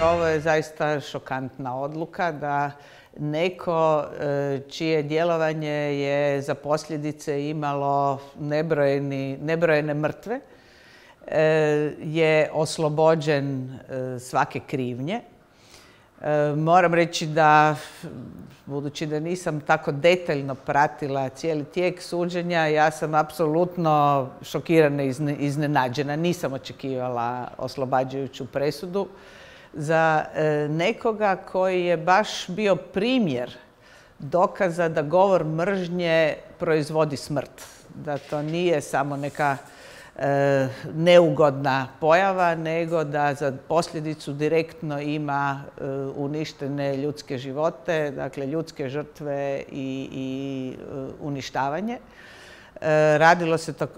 Ovo je zaista šokantna odluka da neko čije djelovanje je za posljedice imalo nebrojene mrtve je oslobođen svake krivnje. Moram reći da, budući da nisam tako detaljno pratila cijeli tijek suđenja, ja sam apsolutno šokirana i iznenađena. Nisam očekivala oslobađajuću presudu za nekoga koji je baš bio primjer dokaza da govor mržnje proizvodi smrt. Da to nije samo neka neugodna pojava, nego da za posljedicu direktno ima uništene ljudske živote, dakle ljudske žrtve i uništavanje.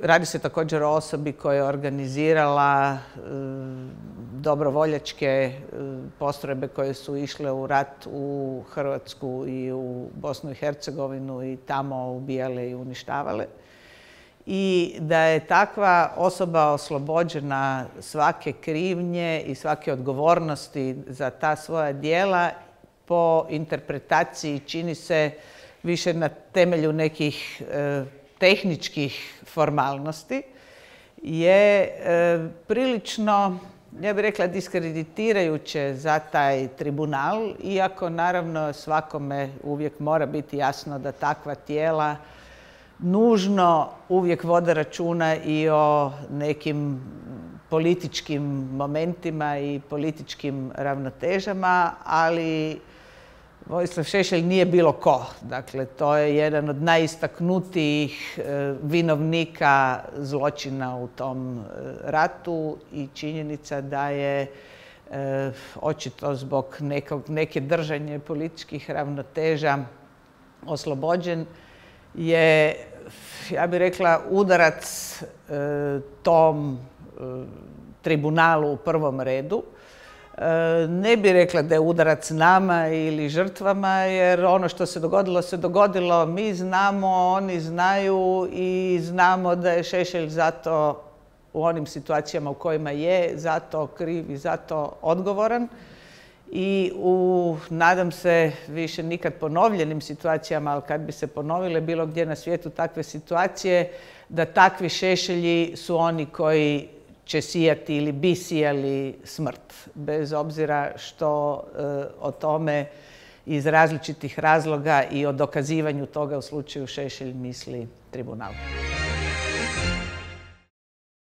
Radi se također o osobi koja je organizirala dobrovoljačke postrojbe koje su išle u rat u Hrvatsku i u Bosnu i Hercegovinu i tamo ubijale i uništavale. I da je takva osoba oslobođena svake krivnje i svake odgovornosti za ta svoja djela po interpretaciji čini se više na temelju nekih tehničkih formalnosti je prilično, ja bih rekla, diskreditirajuće za taj tribunal, iako naravno svakome uvijek mora biti jasno da takva tijela nužno uvijek vode računa i o nekim političkim momentima i političkim ravnotežama, ali Vojislav Šešelj nije bilo ko. Dakle, to je jedan od najistaknutijih vinovnika zločina u tom ratu i činjenica da je očito zbog neke držanje političkih ravnoteža oslobođen je, ja bih rekla, udarac tom tribunalu u prvom redu. Ne bih rekla da je udarac nama ili žrtvama, jer ono što se dogodilo, mi znamo, oni znaju i znamo da je Šešelj zato u onim situacijama u kojima je zato kriv i zato odgovoran. I u, nadam se, više nikad ponovljenim situacijama, ali kad bi se ponovile bilo gdje na svijetu takve situacije, da takvi Šešelji su oni koji će sijati ili bi sijali smrt, bez obzira što o tome iz različitih razloga i o dokazivanju toga u slučaju Šešelj misli tribunal.